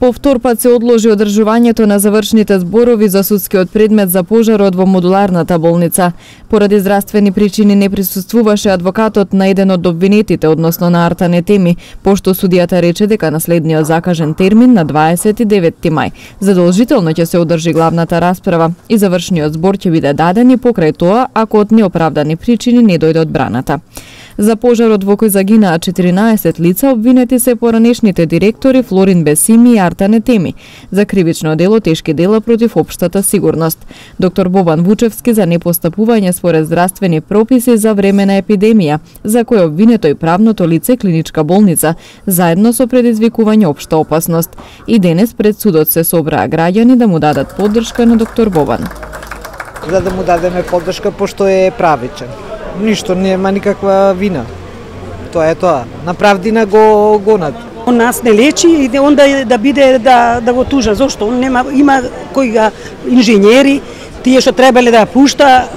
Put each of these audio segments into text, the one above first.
Повтор пат се одложи одржувањето на завршните зборови за судскиот предмет за пожарот во модуларната болница. Поради здравствени причини не присуствуваше адвокатот на еден од обвинетите, односно на Артан Етеми, пошто судијата рече дека на следниот закажен термин на 29 мај задолжително ќе се одржи главната расправа и завршниот збор ќе биде даден и покрај тоа ако од неоправдани причини не дојде одбраната. За пожарот во кој загинаа 14 лица обвинети се поранешните директори Флорин Бесими и Артан Етеми за кривично дело тешки дела против општата сигурност. Доктор Бобан Вучевски за непостапување според здравствени прописи за време на епидемија, за кој обвинето и правното лице клиничка болница, заедно со предизвикување општа опасност. И денес пред судот се собраа граѓани да му дадат поддршка на доктор Бобан. За да му дадеме поддршка пошто е правичен. Ништо, нема никаква вина. Тоа е тоа. На правдина го гонат. Он нас не лечи и онда да биде да го тужа. Зошто? Он нема, има кои га инженери, тие што требале да пушта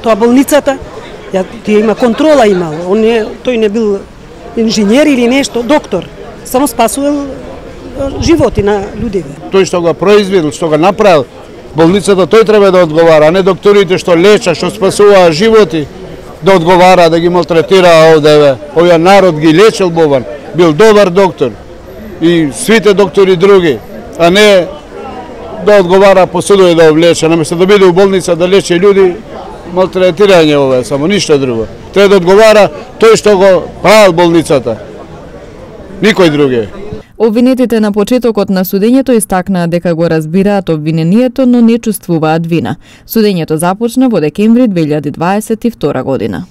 тоа болницата, тие има контрола имал. Тој не бил инженер или нешто, доктор. Само спасувал животи на луѓе. Тој што го произвел, што го направил болницата, тој треба да одговара, а не докторите што лечат, што спасуваа животи, да одговара, да ги малтретира овде. Овој народ ги лечел Бобан, бил добар доктор и сите доктори други, а не да одговара по судови да облече, наместо да биде у болница да лечи луѓе, малтретирање овде, само ништо друго. Треба да одговара тој што го правил болницата, никој други. Обвинетите на почетокот на судењето истакнаа дека го разбираат обвинението, но не чувствуваат вина. Судењето започна во декември 2022 година.